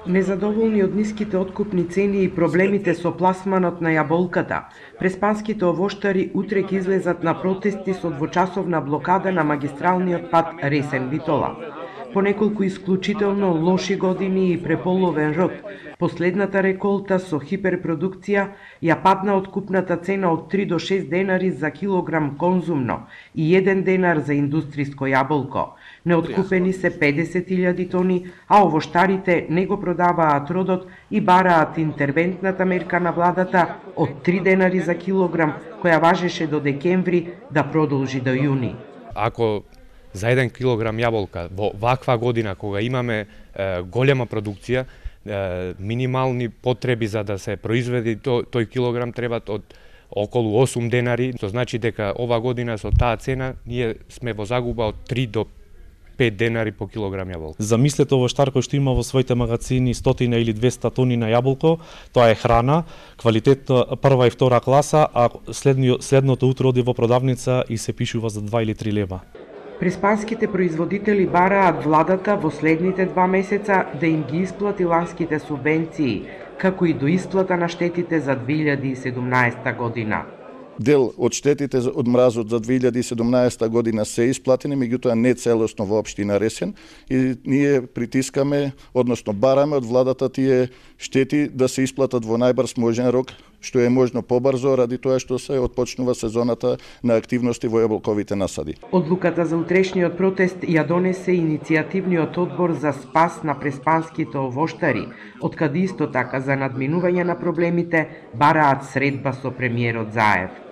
Незадоволни од ниските откупни цени и проблемите со пласманот на јаболката, преспанските овоштари утре ќе излезат на протести со двочасовна блокада на магистралниот пат Ресен-Битола. По неколку исклучително лоши години и преполовен род, последната реколта со хиперпродукција ја падна откупната цена од 3 до 6 денари за килограм конзумно и 1 денар за индустриско јаболко. Неоткупени се 50.000 тони, а овоштарите не го продаваат родот и бараат интервентната мерка на владата од 3 денари за килограм, која важеше до декември, да продолжи до јуни. Ако за 1 килограм јаболка во ваква година кога имаме голема продукција, минимални потреби за да се произведе тој килограм требат од околу 8 денари, што значи дека ова година со таа цена ние сме во загуба од 3 до 5 денари по килограм јаболка. Замислете овоштар кој што има во своите магазини 100 или 200 тони на јаболко, тоа е храна, квалитет прва и втора класа, а следното утро оди во продавница и се пишува за 2 или 3 лева. Преспанските производители бараат владата во следните 2 месеца да им ги исплати ланските субвенции, како и до исплата на штетите за 2017 година. Дел од штетите од мразот за 2017 година се исплатени, меѓутоа не целосно во општина Ресен, и ние притискаме, односно бараме од владата тие штети да се исплатат во најбрз можен рок, што е можно побрзо ради тоа што се отпочнува сезоната на активности во јаболковите насади. Одлуката за утрешниот протест ја донесе иницијативниот одбор за спас на преспанските овоштари, откаде исто така за надминување на проблемите бараат средба со премиерот Заев.